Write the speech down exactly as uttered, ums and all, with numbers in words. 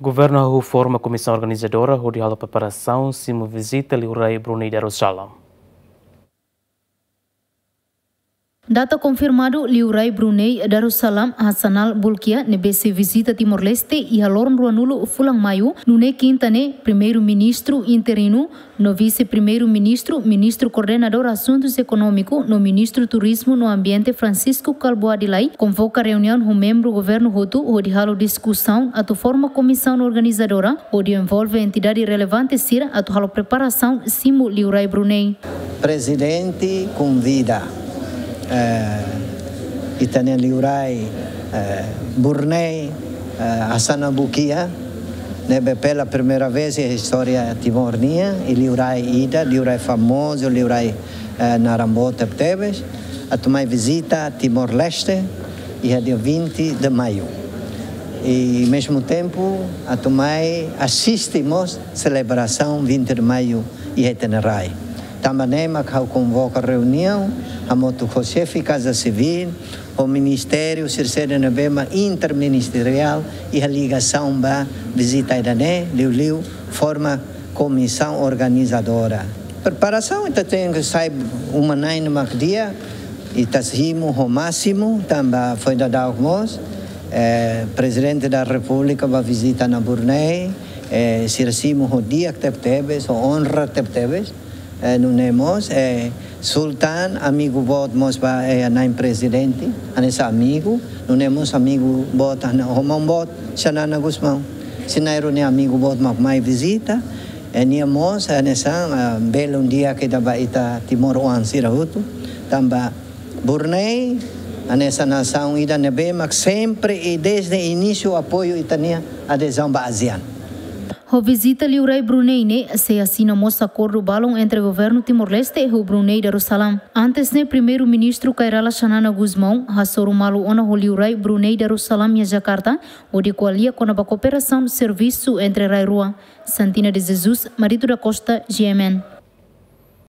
Governu hahú forma komisaun organizadora hodi halo preparasaun simu vizita Liurai Brunei Darussalam. Data konfirmadu: Liurai Brunei Darussalam Hassanal Bolkiah ne'ebé sei vizita Timor-Leste iha loron ruanulu fulan Maiu, nune'e kinta ne'e, Primeiru-Ministru interinu no Vise-Primeiru-Ministru, Ministru Koordenadór Asuntus Ekonómiku no Ministru Turizmu no Ambiente, Francisco Kalbuadi Lay, konvoka reuniaun ho membru governu hotu hodi halo diskusaun atu forma komisaun organizadora hodi envolve entidade relevante sira atu halo preparasaun simu Liurai Brunei. Prezidente konvida, eh, ita-nia Liurai, eh, Brunei, eh, Hassanal Bolkiah, ne'ebé pela primeira vez iha istória Timor nian, i Liurai ida, Liurai famozu, Liurai, eh, naran boot tebetebes, atu mai vizita Timor-Leste iha dia vinte de Maio. I, mesmu tempu, atu mai asiste mós selebrasaun vinte de Maio iha ita-nia rai. Tanba ne'e mak ha'u konvoka reuniaun hamutuk ho xefe Kaza Sivíl, ho ministériu sira-sira ne'ebé mak interministeriál iha ligasaun ba vizita ida-ne'e, liuliu forma komisaun organizadora. Preparasaun ita tenke sai uma-na'in mak di'ak, ita simu ho másimu, tanba foin daudauk mós, eh, Prezidente da Repúblika bá vizita ona Brunei, eh, sira simu ho di'ak tebetebes, ho onra tebetebes, eh, nune'e mós, eh, Sultan, amigu boot mós ba, eh, na'in prezidente, hanesan amigu, nune'e mós amigu boot, hane, ho maun boot, Xanana Gusmão. Xanana nia amigu boot mak mai vizita, eh, nia mós, eh, hanesan, ah, belun di'ak ida ba ita timoroan sira hotu, tanba Brunei, hanesan nasaun ida ne'ebé mak sempre i dezde inísiu apoiu ita-nia adezaun ba ASEAN. Ho vizita Liurai Brunei ne'e, sei asina mós akordu balun entre Governu Timor-Leste ho Brunei Darussalam. Antes ne'e, Primeiru-Ministru Kay Rala Xanana Gusmão hasoru malu ona ho Liurai Brunei Darussalam iha Jakarta, hodi ko'alia kona-ba kooperasaun servisu entre rai rua. Santina de Jesus, Marito da Costa, G M N.